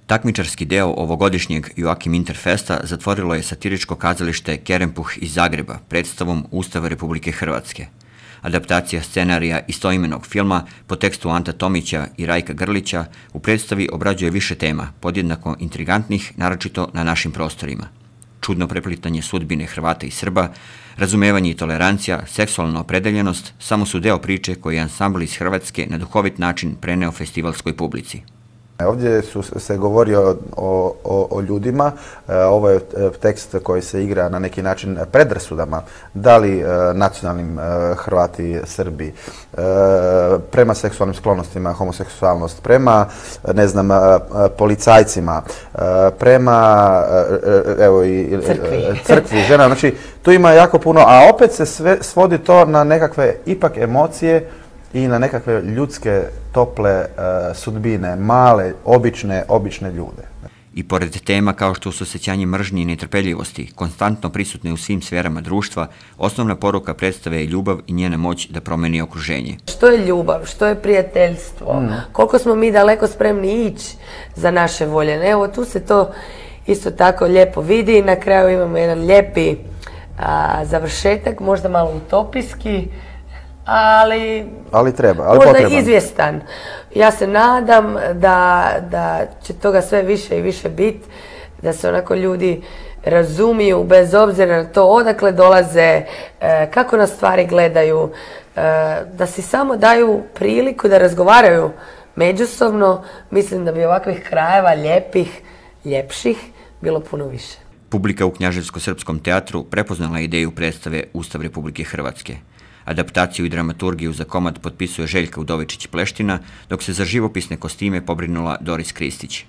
Takmičarski deo ovogodišnjeg Joakim Interfesta zatvorilo je satiričko kazalište Kerempuh iz Zagreba predstavom Ustava Republike Hrvatske. Adaptacija scenarija istoimenog filma po tekstu Anta Tomića i Rajka Grlića u predstavi obrađuje više tema, podjednako intrigantnih, naročito na našim prostorima. Čudno preplitanje sudbine Hrvata i Srba, razumevanje i tolerancija, seksualna opredeljenost samo su deo priče koji je ansambl iz Hrvatske na duhovit način preneo festivalskoj publici. Ovdje se govori o ljudima, ovo je tekst koji se igra na neki način predrasudama, da li nacionalnim Hrvati, Srbi, prema seksualnim sklonostima, homoseksualnost, prema, ne znam, policajcima, prema crkvi, žena, znači tu ima jako puno, a opet se sve svodi to na nekakve ipak emocije i na nekakve ljudske, tople sudbine, male, obične ljude. I pored tema kao što su osjećanje mržnje i netrpeljivosti, konstantno prisutne u svim sferama društva, osnovna poruka predstave je ljubav i njena moć da promeni okruženje. Što je ljubav, što je prijateljstvo, koliko smo mi daleko spremni ići za naše volje. Evo, tu se to isto tako lijepo vidi i na kraju imamo jedan lijepi završetak, možda malo utopijski, ali treba, ali možda potreban. Izvjestan. Ja se nadam da će toga sve više i više biti, da se onako ljudi razumiju bez obzira na to odakle dolaze, kako na stvari gledaju, da si samo daju priliku da razgovaraju međusobno. Mislim da bi ovakvih krajeva lijepih, ljepših bilo puno više. Publika u Knjaževsko-srpskom teatru prepoznala ideju predstave Ustav Republike Hrvatske. Adaptaciju i dramaturgiju za komad potpisuje Željka Udovičić-Pleština, dok se za živopisne kostime pobrinula Doris Kristić.